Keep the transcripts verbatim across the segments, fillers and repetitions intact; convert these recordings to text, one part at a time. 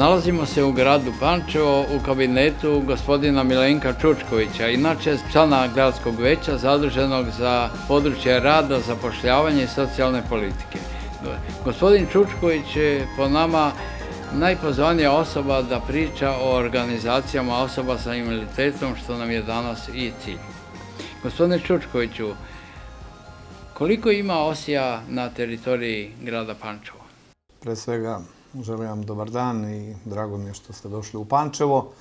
Nalazimo se u gradu Pančevo u kabinetu gospodina Milenka Čučkovića, inače člana gradskog veća zaduženog za područje rada, zapošljavanja i socijalne politike. Gospodin Čučković je po nama najpozvanija osoba da priča o organizacijama osoba sa invaliditetom, što nam je danas i cilj. Gospodine Čučkoviću, koliko ima osija na teritoriji grada Pančevo? Pre svega želim vam dobar dan i drago mi je što ste došli u Pančevo.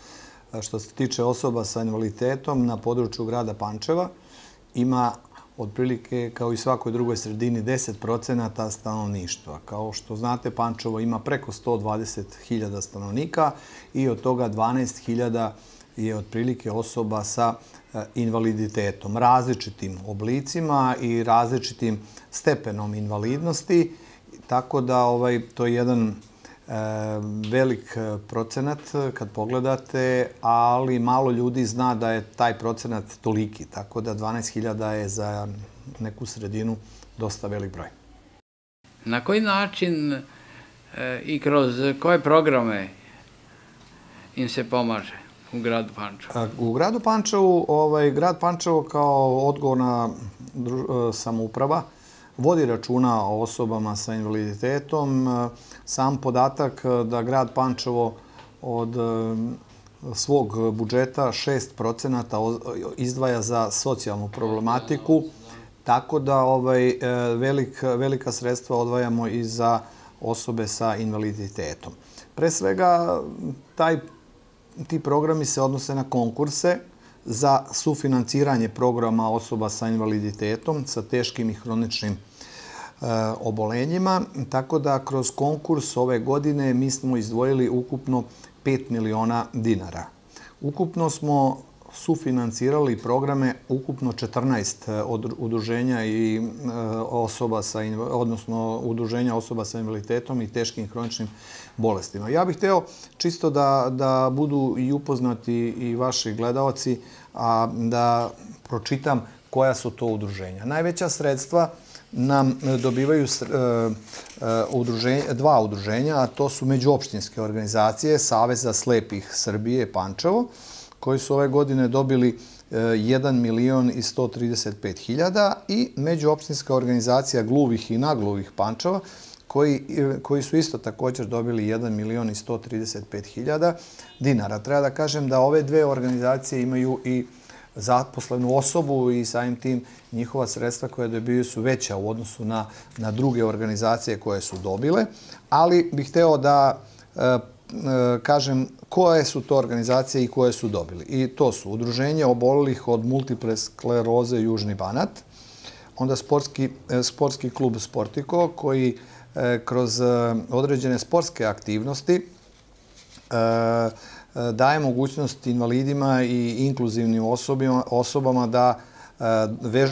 Što se tiče osoba sa invaliditetom na području grada Pančeva, ima otprilike kao i svakoj drugoj sredini deset procenata stanovništva. Kao što znate, Pančevo ima preko sto dvadeset hiljada stanovnika i od toga dvanaest hiljada je otprilike osoba sa invaliditetom, različitim oblicima i različitim stepenom invalidnosti, tako da ovaj, to je jedan velik procenat kad pogledate, ali malo ljudi zna da je taj procenat toliki, tako da dvanaest hiljada je za neku sredinu dosta velik broj. Na koji način i kroz koje programe im se pomaže u gradu Pančevo? U gradu Pančevu, ovaj, grad Pančevo kao odgovorna samouprava vodi računa o osobama sa invaliditetom. Sam podatak da grad Pančevo od svog budžeta šest procenata izdvaja za socijalnu problematiku, tako da ovaj, velik, velika sredstva odvajamo i za osobe sa invaliditetom. Pre svega, taj, ti programi se odnose na konkurse za sufinanciranje programa osoba sa invaliditetom, sa teškim i hroničnim obolenjima, tako da kroz konkurs ove godine mi smo izdvojili ukupno pet miliona dinara. Ukupno smo sufinancirali programe ukupno četrnaest udruženja i osoba sa, odnosno udruženja osoba sa invaliditetom i teškim hroničnim bolestima. Ja bih hteo čisto da, da budu i upoznati i vaši gledaoci, a da pročitam koja su to udruženja. Najveća sredstva nam dobivaju dva udruženja, a to su međuopštinske organizacije Saveza slepih Srbije Pančevo, koji su ove godine dobili jedan milion i sto trideset pet hiljada i međuopštinska organizacija gluvih i nagluvih Pančeva, koji, koji su isto također dobili jedan milion i sto trideset pet hiljada dinara. Treba da kažem da ove dve organizacije imaju i zaposlenu osobu i samim tim njihova sredstva koje dobiju su veća u odnosu na, na druge organizacije koje su dobile, ali bih hteo da e, e, kažem koje su to organizacije i koje su dobili. I to su Udruženje obolelih od multiple skleroze Južni Banat, onda sportski, sportski klub Sportiko koji e, kroz određene sportske aktivnosti e, daje mogućnost invalidima i inkluzivnim osobama da,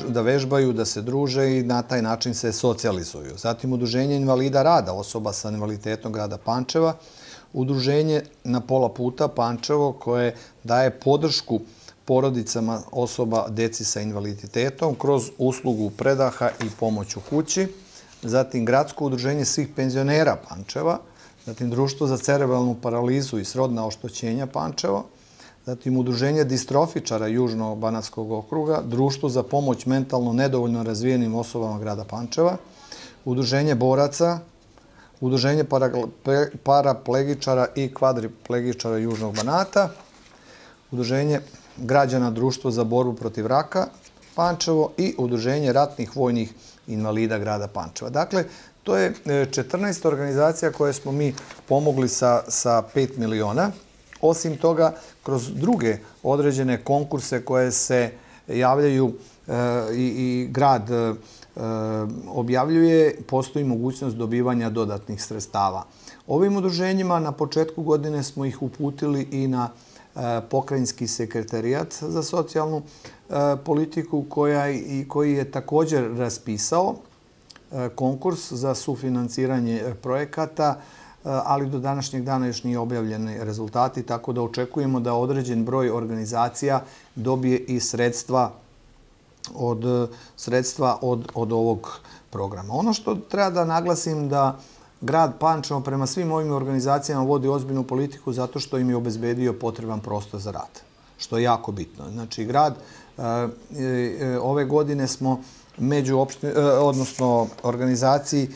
da vežbaju, da se druže i na taj način se socijalizuju. Zatim Udruženje invalida rada osoba sa invaliditetom grada Pančeva, Udruženje Na pola puta Pančevo koje daje podršku porodicama osoba deci sa invaliditetom kroz uslugu predaha i pomoć u kući. Zatim Gradsko udruženje svih penzionera Pančeva, zatim Društvo za cerebralnu paralizu i srodna oštećenja Pančevo, zatim Udruženje distrofičara Južno-Banatskog okruga, Društvo za pomoć mentalno nedovoljno razvijenim osobama grada Pančeva, Udruženje boraca, Udruženje paraplegičara i kvadriplegičara Južnog Banata, Udruženje građana Društvo za borbu protiv raka Pančevo i Udruženje ratnih vojnih invalida grada Pančeva. Dakle, to je četrnaest organizacija koje smo mi pomogli sa, sa pet miliona. Osim toga, kroz druge određene konkurse koje se javljaju e, i, i grad e, objavljuje, postoji mogućnost dobivanja dodatnih sredstava. Ovim udruženjima na početku godine smo ih uputili i na e, pokrajinski sekretarijat za socijalnu e, politiku koja, i, koji je također raspisao konkurs za sufinanciranje projekata, ali do današnjeg dana još nije objavljeni rezultati, tako da očekujemo da određen broj organizacija dobije i sredstva od, sredstva od, od ovog programa. Ono što treba da naglasim da grad Pančevo prema svim ovim organizacijama vodi ozbiljnu politiku zato što im je obezbedio potreban prostor za rad, što je jako bitno. Znači, grad, ove godine smo među opštini, odnosno organizaciji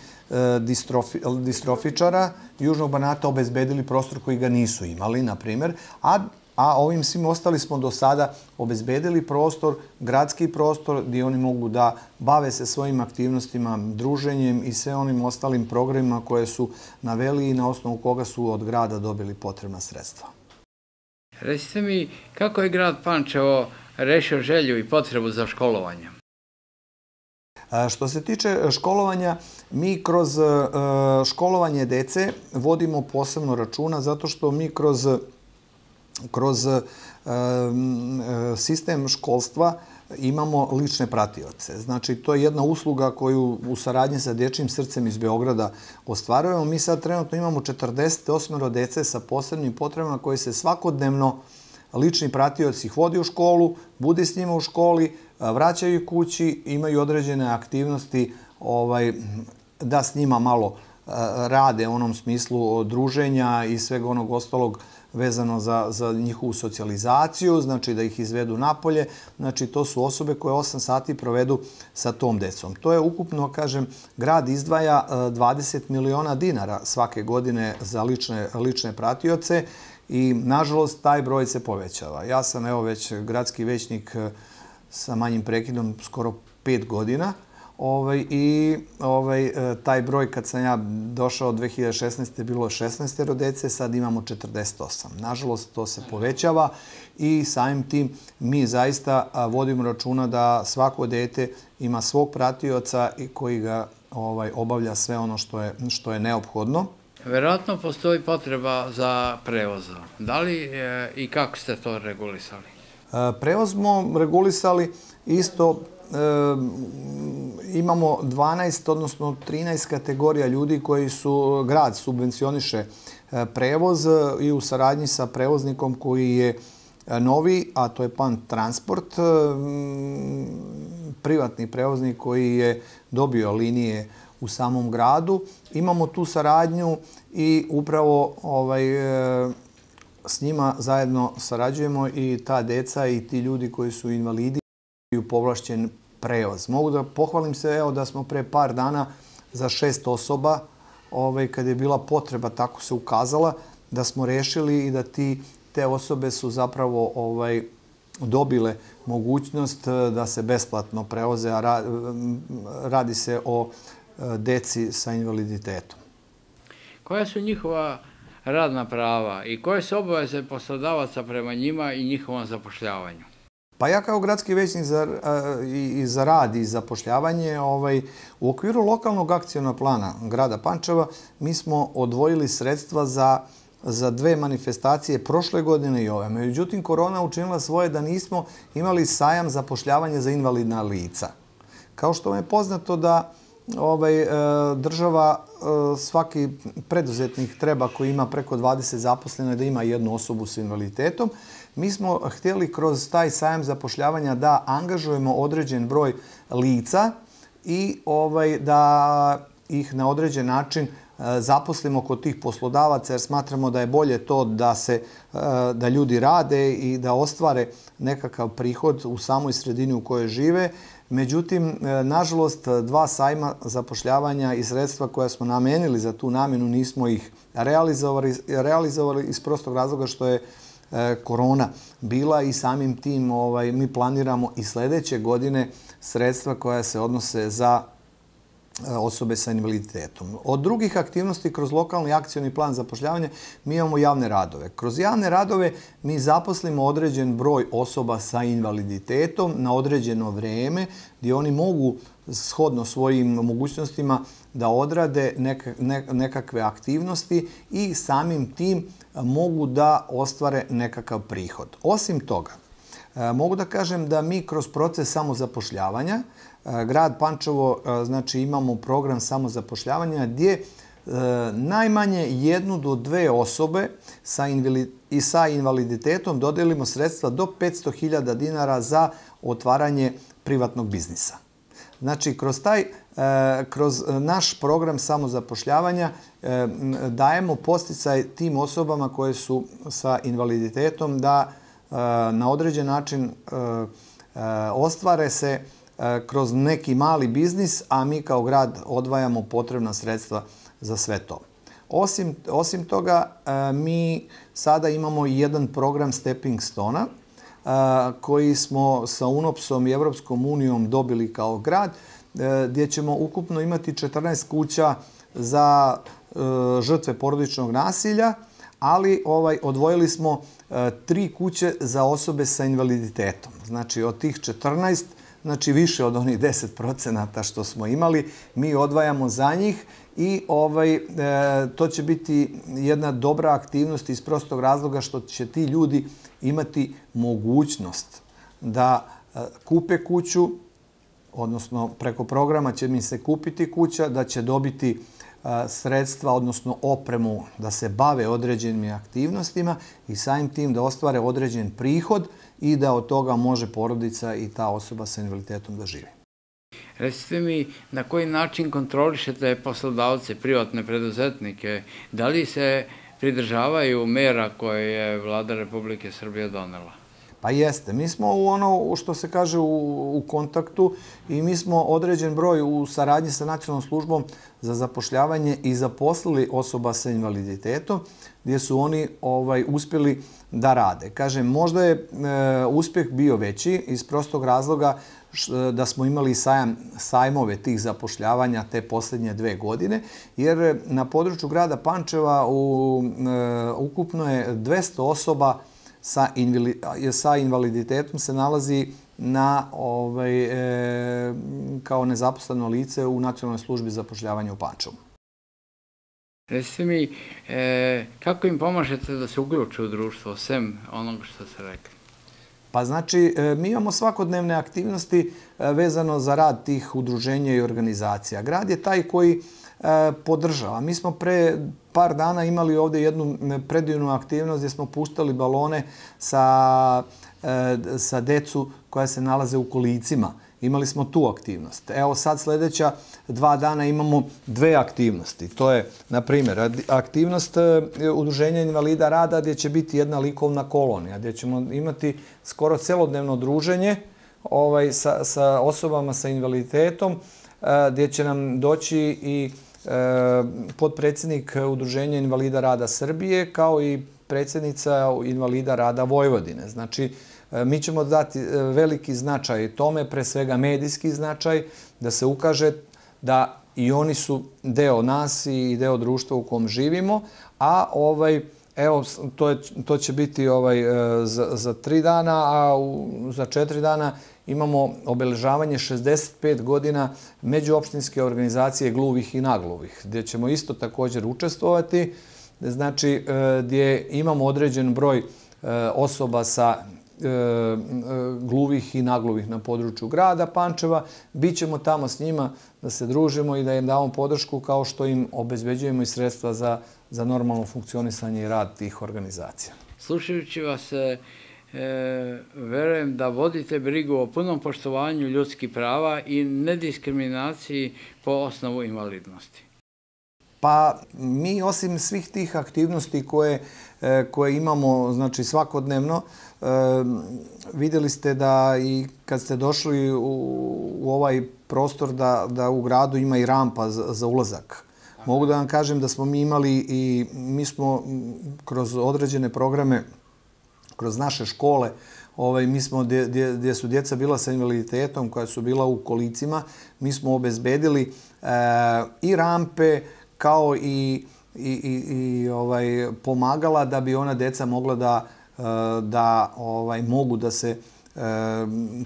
distrofi, distrofičara Južnog Banata obezbedili prostor koji ga nisu imali, na primjer, a a ovim svim ostali smo do sada obezbedili prostor, gradski prostor, gdje oni mogu da bave se svojim aktivnostima, druženjem i sve onim ostalim programima koje su naveli i na osnovu koga su od grada dobili potrebna sredstva. Recite mi, kako je grad Pančevo rešio želju i potrebu za školovanje? Što se tiče školovanja, mi kroz školovanje dece vodimo posebno računa zato što mi kroz kroz sistem školstva imamo lične pratioce. Znači, to je jedna usluga koju u saradnji sa Dječjim srcem iz Beograda ostvarujemo. Mi sad trenutno imamo četrdeset osam dece sa posebnim potrebama koji se svakodnevno lični pratioci ih vodi u školu, bude s njima u školi, vraćaju kući, imaju određene aktivnosti da s njima malo rade u onom smislu druženja i svega onog ostalog vezano za, za njihovu socijalizaciju, znači da ih izvedu napolje. Znači, to su osobe koje osam sati provedu sa tom decom. To je ukupno, kažem, grad izdvaja dvadeset miliona dinara svake godine za lične, lične pratioce i, nažalost, taj broj se povećava. Ja sam, evo, već gradski većnik sa manjim prekidom skoro pet godina. Ovaj, I ovaj, taj broj, kad sam ja došao dve hiljade šesnaeste. bilo šesnaest dece, sad imamo četrdeset osam. Nažalost, to se povećava i samim tim mi zaista vodimo računa da svako dete ima svog pratioca i koji ga ovaj, obavlja sve ono što je, što je neophodno. Verovatno postoji potreba za prevozom. Da li e, i kako ste to regulisali? E, prevoz smo regulisali isto. Imamo dvanaest, odnosno trinaest kategorija ljudi koji su, grad subvencioniše prevoz i u saradnji sa prevoznikom koji je novi, a to je Pan Transport, privatni prevoznik koji je dobio linije u samom gradu. Imamo tu saradnju i upravo ovaj, s njima zajedno sarađujemo i ta deca i ti ljudi koji su invalidi imaju povlašćen prevoz. Mogu da pohvalim se, evo, da smo pre par dana za šest osoba, ovaj, kad je bila potreba, tako se ukazala, da smo rešili i da ti, te osobe su zapravo ovaj, dobile mogućnost da se besplatno prevoze, a ra, radi se o deci sa invaliditetom. Koja su njihova radna prava i koje su obaveze poslodavaca prema njima i njihovom zapošljavanju? Pa ja kao gradski većnik za, i za rad i zapošljavanje, ovaj, u okviru lokalnog akcionog plana grada Pančeva mi smo odvojili sredstva za, za dve manifestacije prošle godine i ove. Međutim, korona učinila svoje da nismo imali sajam zapošljavanja za invalidna lica. Kao što vam je poznato da ovaj, država, svaki preduzetnik treba koji ima preko dvadeset zaposlena da ima jednu osobu s invaliditetom. Mi smo htjeli kroz taj sajam zapošljavanja da angažujemo određen broj lica i ovaj, da ih na određen način zaposlimo kod tih poslodavaca, jer smatramo da je bolje to da, se, da ljudi rade i da ostvare nekakav prihod u samoj sredini u kojoj žive. Međutim, nažalost, dva sajma zapošljavanja i sredstva koja smo namenili za tu namjenu nismo ih realizovali, realizovali iz prostog razloga što je korona bila i samim tim ovaj, mi planiramo i sljedeće godine sredstva koja se odnose za osobe sa invaliditetom. Od drugih aktivnosti kroz lokalni akcioni plan zapošljavanja mi imamo javne radove. Kroz javne radove mi zaposlimo određen broj osoba sa invaliditetom na određeno vrijeme gdje oni mogu shodno svojim mogućnostima da odrade nekakve aktivnosti i samim tim mogu da ostvare nekakav prihod. Osim toga, mogu da kažem da mi kroz proces samozapošljavanja, grad Pančevo, znači imamo program samozapošljavanja gdje najmanje jednu do dve osobe sa i sa invaliditetom dodelimo sredstva do petsto hiljada dinara za otvaranje privatnog biznisa. Znači, kroz taj kroz naš program samozapošljavanja dajemo podsticaj tim osobama koje su sa invaliditetom da na određen način ostvare se kroz neki mali biznis, a mi kao grad odvajamo potrebna sredstva za sve to. Osim, osim toga, mi sada imamo jedan program Stepping Stona koji smo sa UNOPS-om i Evropskom unijom dobili kao grad, gdje ćemo ukupno imati četrnaest kuća za žrtve porodičnog nasilja, ali ovaj, odvojili smo tri kuće za osobe sa invaliditetom. Znači, od tih četrnaest, znači više od onih deset procenata što smo imali, mi odvajamo za njih i ovaj, to će biti jedna dobra aktivnost iz prostog razloga što će ti ljudi imati mogućnost da kupe kuću, odnosno preko programa će mi se kupiti kuća, da će dobiti sredstva, odnosno opremu da se bave određenim aktivnostima i samim tim da ostvare određen prihod i da od toga može porodica i ta osoba sa invaliditetom da živi. Recite mi, na koji način kontrolišete poslodavce, privatne preduzetnike? Da li se pridržavaju mera koje je Vlada Republike Srbije donela? Pa jeste. Mi smo u ono što se kaže u, u kontaktu i mi smo određen broj u saradnji sa Nacionalnom službom za zapošljavanje i zaposlili osoba sa invaliditetom gdje su oni ovaj, uspjeli da rade. Kažem, možda je e, uspjeh bio veći iz prostog razloga š, da smo imali sajam, sajmove tih zapošljavanja te posljednje dve godine, jer na području grada Pančeva u, e, ukupno je dvesta osoba sa, invali, sa invaliditetom se nalazi na, ovaj, e, kao nezaposleno lice u Nacionalnoj službi za zapošljavanje u Pančevu. Recite mi, e, kako im pomažete da se uključe u društvo, sem onoga što ste rekli? Pa znači, mi imamo svakodnevne aktivnosti vezano za rad tih udruženja i organizacija. Grad je taj koji podržava. Mi smo pre par dana imali ovdje jednu predivnu aktivnost gdje smo puštali balone sa, sa decu koja se nalaze u kolicima. Imali smo tu aktivnost. Evo sad sljedeća dva dana imamo dve aktivnosti. To je, na primjer, aktivnost Udruženja invalida rada gdje će biti jedna likovna kolonija, gdje ćemo imati skoro celodnevno druženje ovaj, sa, sa osobama sa invaliditetom, gdje će nam doći i e, potpredsjednik Udruženja invalida rada Srbije kao i predsjednica invalida rada Vojvodine. Znači, mi ćemo dati veliki značaj tome, pre svega medijski značaj, da se ukaže da i oni su deo nas i deo društva u kom živimo, a ovaj, evo, to, je, to će biti ovaj, za, za tri dana, a u, za četiri dana imamo obeležavanje šezdeset pet godina međuopštinske organizacije gluvih i nagluvih, gdje ćemo isto također učestvovati, znači gdje imamo određen broj osoba sa gluvih i nagluvih na području grada Pančeva. Bićemo tamo s njima da se družimo i da im damo podršku kao što im obezbeđujemo i sredstva za, za normalno funkcionisanje i rad tih organizacija. Slušajući vas, e, verujem da vodite brigu o punom poštovanju ljudskih prava i nediskriminaciji po osnovu invalidnosti. Pa mi osim svih tih aktivnosti koje, koje imamo znači, svakodnevno, vidjeli ste da i kad ste došli u, u ovaj prostor da, da u gradu ima i rampa za, za ulazak. Mogu da vam kažem da smo mi imali i mi smo kroz određene programe, kroz naše škole, ovaj, mi smo gdje, gdje su djeca bila sa invaliditetom koja su bila u kolicima, mi smo obezbedili e, i rampe kao i, i, i, i ovaj, pomagala da bi ona djeca mogla da da ovaj, mogu da se e,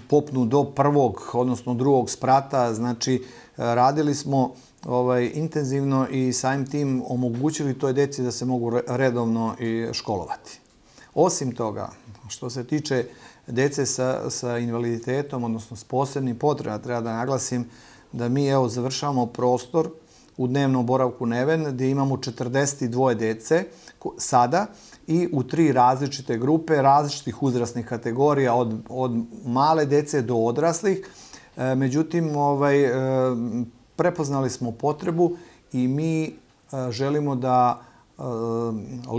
popnu do prvog, odnosno drugog sprata. Znači, radili smo ovaj, intenzivno i samim tim omogućili toj djeci da se mogu redovno i školovati. Osim toga, što se tiče djece sa, sa invaliditetom, odnosno s posebnim potrebama, treba da naglasim da mi evo, završavamo prostor u dnevnom boravku Neven, gdje imamo četrdeset dvoje djece sada, i u tri različite grupe, različitih uzrasnih kategorija, od, od male djece do odraslih. E, međutim, ovaj, e, prepoznali smo potrebu i mi želimo da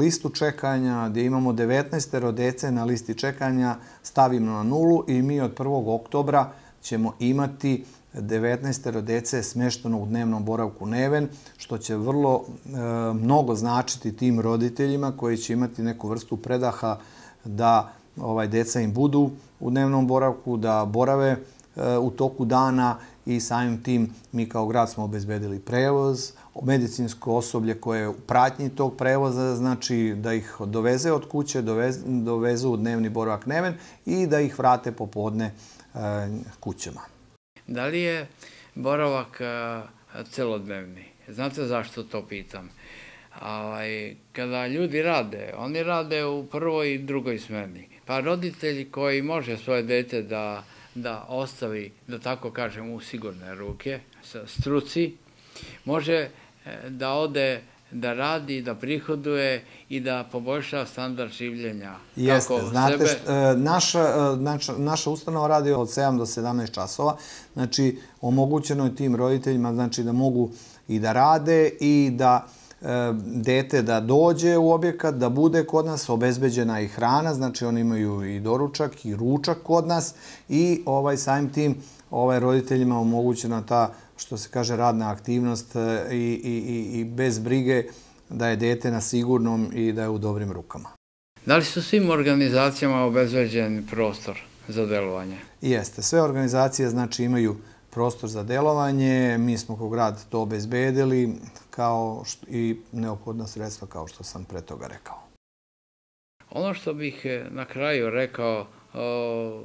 listu čekanja, gdje imamo devetnaest dece na listi čekanja, stavimo na nulu i mi od prvog oktobra ćemo imati devetnaest dece smešteno u dnevnom boravku Neven, što će vrlo mnogo značiti tim roditeljima koji će imati neku vrstu predaha da ovaj, deca im budu u dnevnom boravku, da borave u toku dana i samim tim mi kao grad smo obezbedili prevoz, medicinsko osoblje koje je u pratnji tog prevoza, znači da ih doveze od kuće, doveze, dovezu u dnevni boravak Neven i da ih vrate popodne e, kućama. Da li je boravak celodnevni? Znate zašto to pitam? Ovaj, kada ljudi rade, oni rade u prvoj i drugoj smeni. Pa roditelji koji može svoje dete da, da ostavi, da tako kažem, u sigurne ruke, struci, može da ode, da radi, da prihoduje i da poboljša standard življenja. Jeste, znate, naša, naša, naša ustanova radi od sedam do sedamnaest časova, znači omogućeno je tim roditeljima znači, da mogu i da rade i da dete da dođe u objekat, da bude kod nas, obezbeđena i hrana, znači oni imaju i doručak i ručak kod nas i ovaj, samim tim ovaj, roditeljima omogućena ta, što se kaže, radna aktivnost i, i, i bez brige da je dete na sigurnom i da je u dobrim rukama. Da li su svim organizacijama obezbeđen prostor za delovanje? Jeste. Sve organizacije znači imaju prostor za delovanje. Mi smo kao grad to obezbedili kao što, i neophodna sredstva kao što sam pre toga rekao. Ono što bih na kraju rekao,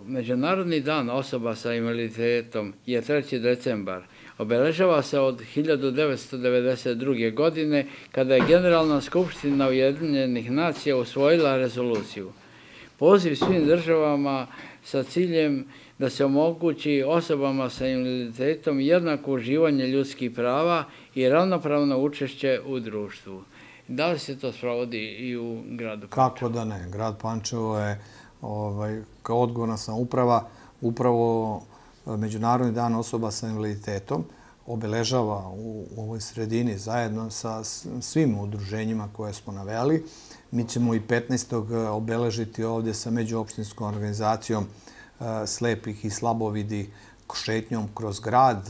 Međunarodni dan osoba sa invaliditetom je treći decembar. Obeležava se od hiljadu devetsto devedeset druge. godine kada je Generalna skupština Ujedinjenih nacija usvojila rezoluciju. Poziv svim državama sa ciljem da se omogući osobama sa invaliditetom jednako uživanje ljudskih prava i ravnopravno učešće u društvu. Da li se to sprovodi i u gradu Pančevo? Kako da ne. Grad Pančevo je ovaj, kao odgovorna samouprava upravo Međunarodni dan osoba sa invaliditetom obeležava u ovoj sredini zajedno sa svim udruženjima koje smo naveli. Mi ćemo i petnaestog obeležiti ovdje sa međuopštinskom organizacijom slepih i slabovidi šetnjom kroz grad,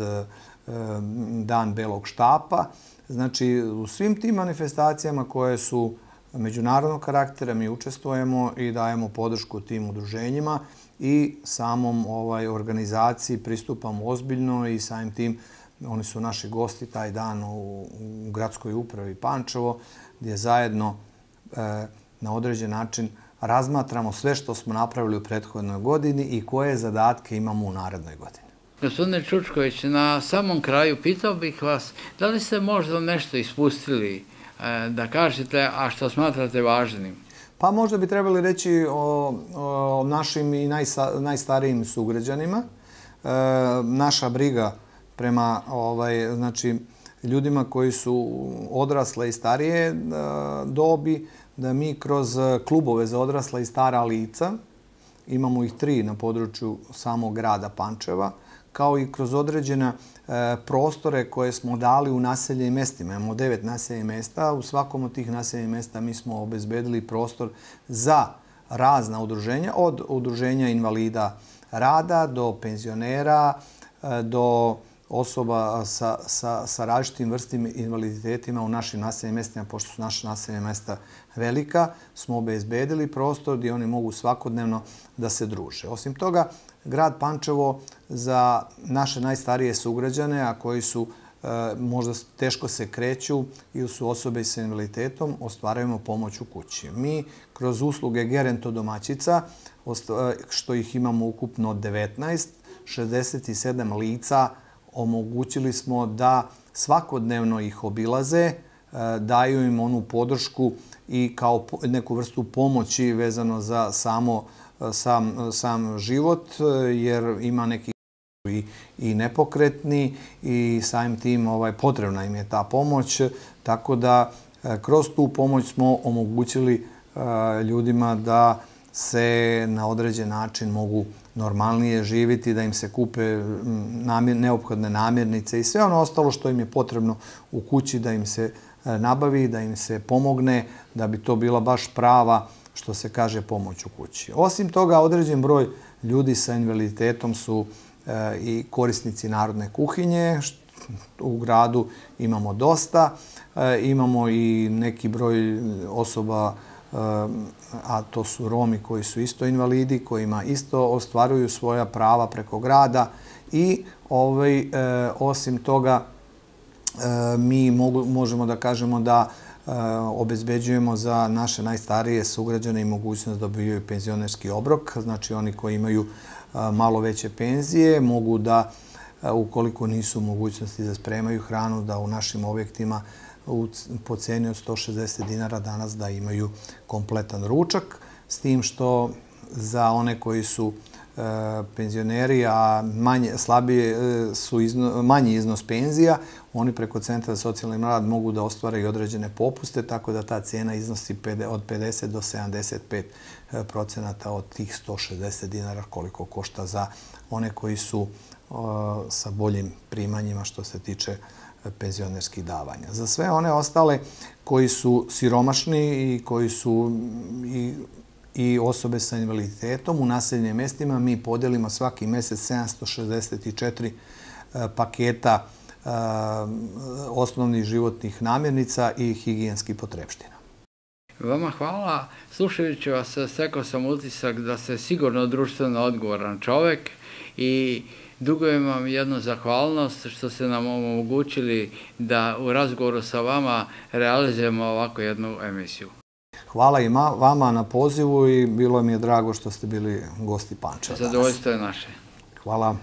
dan belog štapa. Znači, u svim tim manifestacijama koje su međunarodnog karaktera mi učestvujemo i dajemo podršku tim udruženjima i samom ovaj, organizaciji pristupamo ozbiljno i samim tim oni su naši gosti taj dan u, u gradskoj upravi Pančevo gdje zajedno e, na određen način razmatramo sve što smo napravili u prethodnoj godini i koje zadatke imamo u narednoj godini. Gospodine Čučković, na samom kraju pitao bih vas da li ste možda nešto ispustili da kažete, a što smatrate važnim? Pa možda bi trebali reći o, o našim i najsa, najstarijim sugrađanima. E, naša briga prema ovaj, znači, ljudima koji su odrasle i starije e, dobi, da mi kroz klubove za odrasla i stara lica, imamo ih tri na području samog grada Pančeva, kao i kroz određena e, prostore koje smo dali u naseljenim mestima. Imamo devet naseljenih mesta. U svakom od tih naseljenih mesta mi smo obezbedili prostor za razna udruženja, od udruženja invalida rada do penzionera, e, do osoba sa, sa, sa različitim vrstim invaliditetima u našim naseljenim mestima, pošto su naše naseljena mesta velika, smo obezbedili prostor gdje oni mogu svakodnevno da se druže. Osim toga, grad Pančevo za naše najstarije sugrađane, a koji su e, možda teško se kreću ili su osobe sa invaliditetom, ostvarujemo pomoć u kući. Mi kroz usluge gerontodomaćica, što ih imamo ukupno devetnaest, šezdeset sedam lica, omogućili smo da svakodnevno ih obilaze, daju im onu podršku i kao neku vrstu pomoći vezano za samo sam, sam život, jer ima neki i, i nepokretni i samim tim ovaj, potrebna im je ta pomoć. Tako da kroz tu pomoć smo omogućili ljudima da se na određen način mogu normalnije živjeti, da im se kupe neophodne namirnice i sve ono ostalo što im je potrebno u kući da im se nabavi, da im se pomogne, da bi to bila baš prava, što se kaže, pomoć u kući. Osim toga, određen broj ljudi sa invaliditetom su i korisnici narodne kuhinje. U gradu imamo dosta. Imamo i neki broj osoba, a to su Romi koji su isto invalidi, kojima isto ostvaruju svoja prava preko grada. I osim toga, mi možemo da kažemo da obezbeđujemo za naše najstarije sugrađane i mogućnost da dobijaju penzionerski obrok. Znači, oni koji imaju malo veće penzije mogu da, ukoliko nisu u mogućnosti da spremaju hranu, da u našim objektima po ceni od sto šezdeset dinara danas da imaju kompletan ručak, s tim što za one koji su penzioneri, a slabije su manji iznos penzija, oni preko Centra za socijalni rad mogu da ostvare i određene popuste, tako da ta cena iznosi od pedeset do sedamdeset pet procenata od tih sto šezdeset dinara koliko košta za one koji su sa boljim primanjima što se tiče penzionerskih davanja. Za sve one ostale koji su siromašni i koji su i osobe sa invaliditetom u naseljenim mestima, mi podelimo svaki mesec sedamsto šezdeset četiri paketa osnovnih životnih namirnica i higijenskih potrepština. Vama hvala. Slušajući vas, stekao sam utisak da ste sigurno društveno odgovoran čovek i dugujem vam jednu zahvalnost što ste nam omogućili da u razgovoru sa vama realizujemo ovako jednu emisiju. Hvala i vama na pozivu i bilo mi je drago što ste bili gosti Pančeva danas. Zadovoljstvo je naše. Hvala.